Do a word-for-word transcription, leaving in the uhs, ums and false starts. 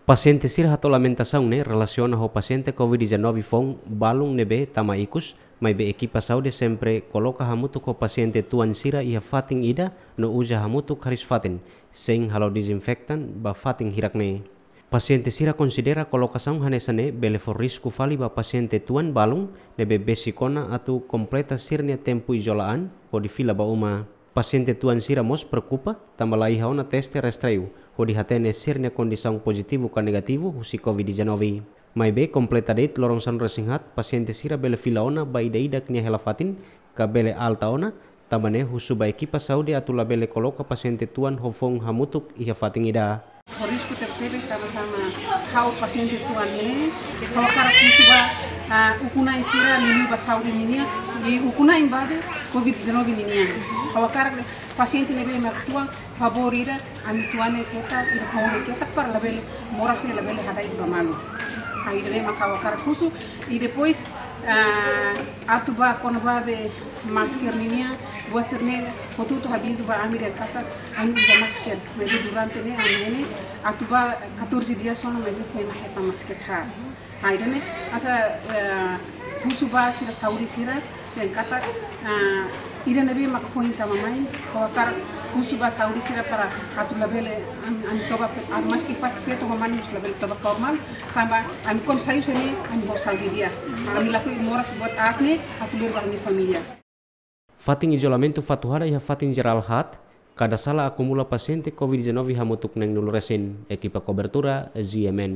Pasiente sira hato'o lamentasaun ne'e relasiona ho pasiente COVID dezanove foun balun ne'ebé tama ikus, maibé ekipa saúde sempre koloka hamutuk ho pasiente tuan sira iha fatin ida no uza hamutuk hariis-fatin, sein halo dezinfektan ba fatin hirak ne'e. Pasiente sira konsidera kolokasaun hanesan ne'e bele fó risku fali ba pasiente tuan balun ne'ebé besik ona atu kompleta sira-nia tempu izola an hodi fila ba uma. Pasiente tuan sira mós preokupa tanba la iha ona teste rastreiu hodi hatene sira-nia kondisaun pozitivu ka negativu husi COVID dezanove. Maibé kompleta de'it loron sanulu-resin-haat, pasiente sira bele fila ona ba ida-idak nia hela-fatin ka bele alta ona, tanba ne'e husu ba ekipa saúde atu labele koloka pasiente tuan ho foun hamutuk iha fatin ida. Risku tebetebes tanba sama ha'u pasiente tuan ne'e, ha'u hakarak husu ba, ah, ukun-na'in sira liuliu ba saúde ninian, i ukun-na'in balu COVID dezanove ninian. Ha'u hakarak pasiente ne'ebé mak tuan, favór ida, ami tuan ne'e ketak, ida foun ne'e ketak para labele moras ne'e labele hada'et ba malu. Ah, ida-ne'e mak ha'u hakarak husu, i depois, ah, atu ba kona-ba be masker ninian, buat sira-ne'e, hotu-hotu habitu ba ami dehan katak, ami uza masker, maibé durante ne'e, ami ne'e, atu ba catorze dias ona, maibé foin mak hetan masker ha. Ah, ida-ne'e, hanesan, eh, husu ba sira saúde sira, dehan katak, ah, ida ne'ebé maka foin tama mai, ha'u hakarak husu ba saúde sira para atu labele, ami, ami toba fe-, ah, maski fat feto ho mane mós labele toba normal, tanba ami kuandu sai husi ne'e, ami ho saúde di'ak. Ami lakohi moras buat aat ne'e, atu ler ba ami família. Fatin izolamentu Fatuhada iha fatin jerál haat, kada sala akumula pasiente COVID dezanove hamutuk neenulu resin, ekipa kobertura, Z M N.